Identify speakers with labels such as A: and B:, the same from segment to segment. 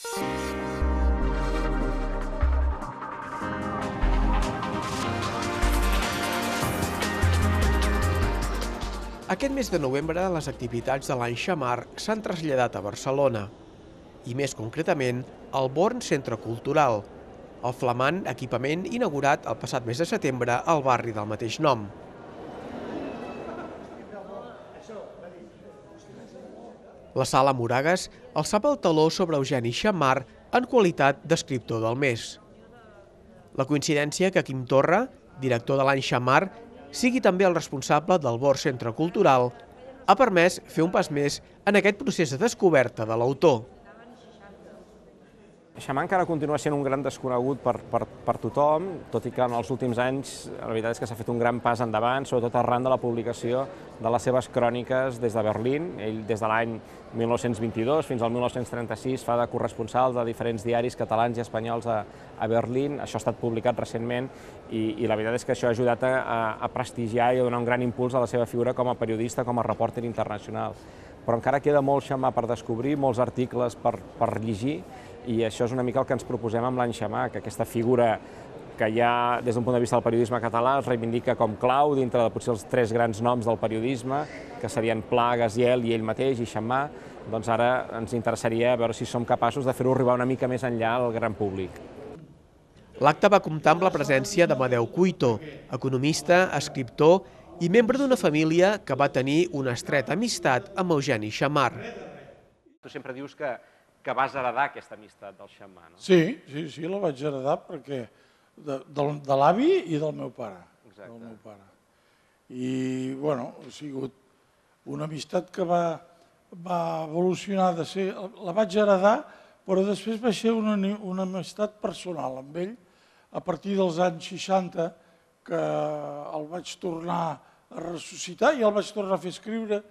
A: Aquest mes de novembre, les activitats de l'Any Xammar s'han traslladat a Barcelona, i més concretament al Born Centre Cultural, el flamant equipament inaugurat el passat mes de setembre al barri del mateix nom. La Sala Moragues alçava el teló sobre Eugeni Xammar en qualitat d'escriptor del mes. La coincidència que Quim Torra, director de l'Any Xammar, sigui també el responsable del Born Centre Cultural, ha permès fer un pas més en aquest procés de descoberta de l'autor.
B: Xammar encara continua sent un gran desconegut per tothom, tot i que en els últims anys la veritat és que s'ha fet un gran pas endavant, sobretot arran de la publicació de les seves cròniques des de Berlín. Ell des de l'any 1922 fins al 1936 fa de corresponsal de diferents diaris catalans i espanyols a Berlín. Això ha estat publicat recentment i la veritat és que això ha ajudat a prestigiar i a donar un gran impuls a la seva figura com a periodista, com a repòrter internacional. Però encara queda molt Xammar per descobrir, molts articles per llegir, i això és una mica el que ens proposem amb l'Any Xammar, que aquesta figura que ja, des d'un punt de vista del periodisme català, es reivindica com clau dintre de potser els tres grans noms del periodisme, que serien Pla, Gaziel i ell mateix, i Xammar, doncs ara ens interessaria veure si som capaços de fer-ho arribar una mica més enllà al gran públic.
A: L'acte va comptar amb la presència d'Amadeu Cuito, economista, escriptor i membre d'una família que va tenir una estreta amistat amb Eugeni Xammar.
B: Tu sempre dius que vas heredar aquesta amistat del Xammar, no?
C: Sí, la vaig heredar perquè de l'avi i del meu pare.
B: Exacte.
C: I, bueno, ha sigut una amistat que va evolucionar de ser... La vaig heredar, però després va ser una amistat personal amb ell. A partir dels anys 60, que el vaig tornar a ressuscitar i el vaig tornar a fer escriure,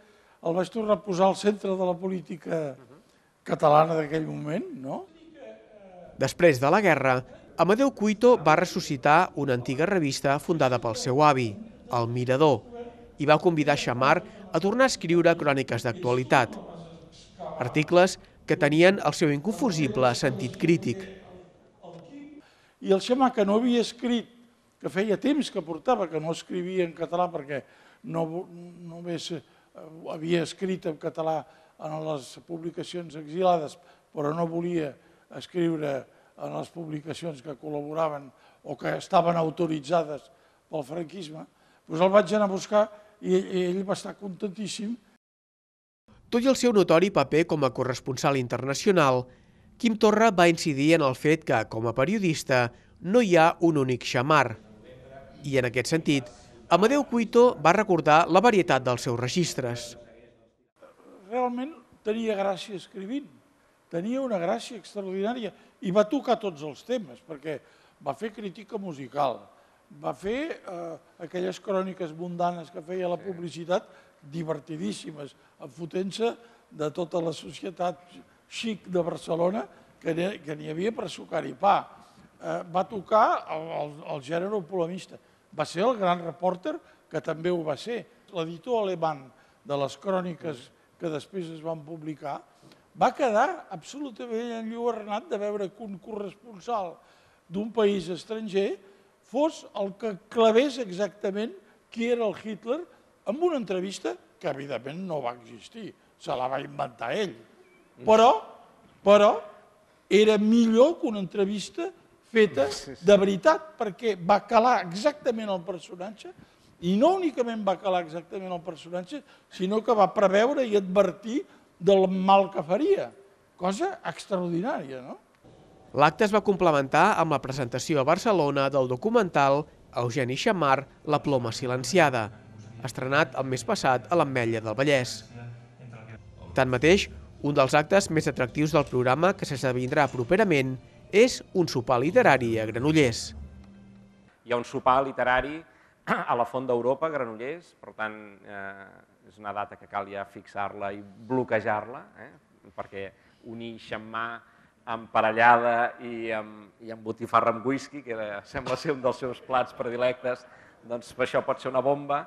C: el vaig tornar a posar al centre de la política catalana d'aquell moment, no?
A: Després de la guerra, Amadeu Cuito va ressuscitar una antiga revista fundada pel seu avi, El Mirador, i va convidar Xammar a tornar a escriure cròniques d'actualitat. Articles que tenien el seu inconfusible sentit crític.
C: I el Xammar, que no havia escrit, que feia temps que portava, que no escrivia en català perquè només havia escrit en català en les publicacions exilades, però no volia escriure en les publicacions que col·laboraven o que estaven autoritzades pel franquisme, doncs el vaig anar a buscar i ell va estar contentíssim.
A: Tot i el seu notori paper com a corresponsal internacional, Quim Torra va incidir en el fet que, com a periodista, no hi ha un únic Xammar. I en aquest sentit, Amadeu Cuito va recordar la varietat dels seus registres.
C: Realment tenia gràcia escrivint, tenia una gràcia extraordinària i va tocar tots els temes, perquè va fer crítica musical, va fer aquelles cròniques mundanes que feia la publicitat, divertidíssimes, enfotent-se de tota la societat xic de Barcelona, que n'hi havia per sucar i pa. Va tocar el gènere polemista, va ser el gran repòrter, que també ho va ser. L'editor alemany de les cròniques que després es van publicar, va quedar absolutament enlluernat de veure que un corresponsal d'un país estranger fos el que clavés exactament qui era el Hitler en una entrevista que evidentment no va existir, se la va inventar ell. Però era millor que una entrevista feta de veritat, perquè va calar exactament el personatge. I no únicament va calar exactament el personatge, sinó que va preveure i advertir del mal que faria. Cosa extraordinària, no?
A: L'acte es va complementar amb la presentació a Barcelona del documental Eugeni Xammar, La ploma silenciada, estrenat el mes passat a l'Ametlla del Vallès. Tanmateix, un dels actes més atractius del programa que s'esdevindrà properament és un sopar literari a Granollers.
B: Hi ha un sopar literari a la Font d'Europa, a Granollers, per tant, és una data que cal ja fixar-la i bloquejar-la, perquè unir Xammar amb parellada i amb botifarra amb whisky, que sembla ser un dels seus plats predilectes, doncs això pot ser una bomba.